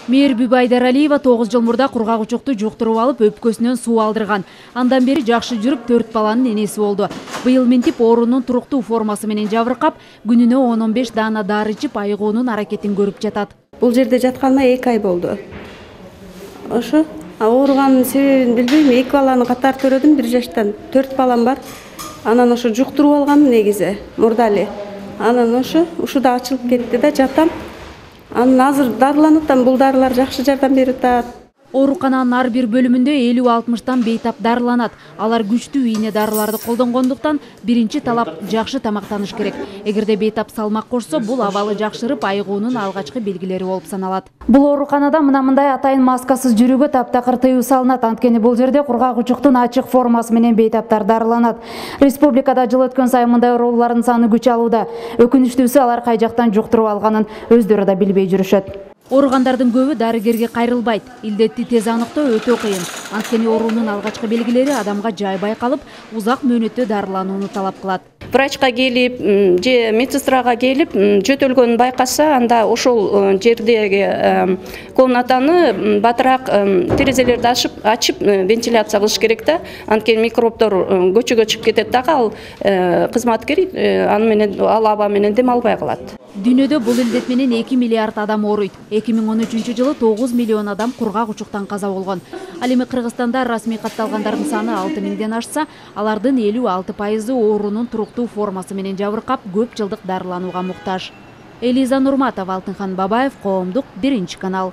Мээрби Байдаралиева 9 жыл мурда кургак учукту жуктуруп алып, өпкөсүнөн суу алдырган. Андан бери жакшы жүрүп, 4 баланын энеси болду. Быйыл минтип оорунун туруктуу формасы менен жабыркап, күнүнө 10-15 даана дары ичип айыгуунун аракетин көрүп жатат. Бул жерде жатканыма 2 ай болду. Ошо ооруганын себебин билбейм. 2 баланы катар төрөдүм, 1 жаштан 4 балам бар. Анан ошо жуктуруп алгам негизи мурда эле. Анан ушуда ачылып кетти да, жатам. Анан азыр дарыланып атам, бул дарылар жакшы жардам берип атат. Оорукананын ар бир бөлүмүндө 50-60 бейтап дарыланат. Алар күчтүү ийне дарыларды колдонгондуктан биринчи талап жакшы тамактаныш керек. Эгерде бейтап салмак кошсо, бул абалы жакшырып, айыгуунун алгачкы белгилери болуп саналат. Бул ооруканада мындай атайын маскасыз жүрүүгө таптакыр тыюу салынат. Анткени бул жерде кургак учуктун ачык формасы менен бейтаптар дарыланат. Республикада жыл өткөн сайын мындай оорулардын саны күч алууда. Өкүнүчтүүсү, алар кай жактан жуктуруп алганын өздөрү да билбей жүрүшөт. Ооругандардын көбү дарыгерге кайрылбайт. Илдетти тез аныктоо өтө кыйын. Анткени оорунун алгачкы белгилери адамга жай байкалып, узак мөөнөттө дарыланууну талап кылат. Врачка келип, же медсестрага келип, жөтөлгөнүн байкаса, анда ошол жердеги комнатаны батыраак терезелерди ачып вентиляция кылыш керек да. Анткени микробдор көчөгө чыгып кетет дагы, ал кызматкер аны менен ал аба менен дем албай калат. Дүйнөдө бул илдет менен 2 миллиард адам ооруйт. 2013-жылы 9 миллион адам кургак учуктан каза болгон. Ал эми Кыргызстанда расмий катталгандардын саны 6 миңден ашса, алардын 56% оорунун туруктуу формасы менен жабыркап, көп жылдык дарыланууга муктаж. Элиза Нурматова, Алтынхан Бабаев, Коомдук, 1 канал.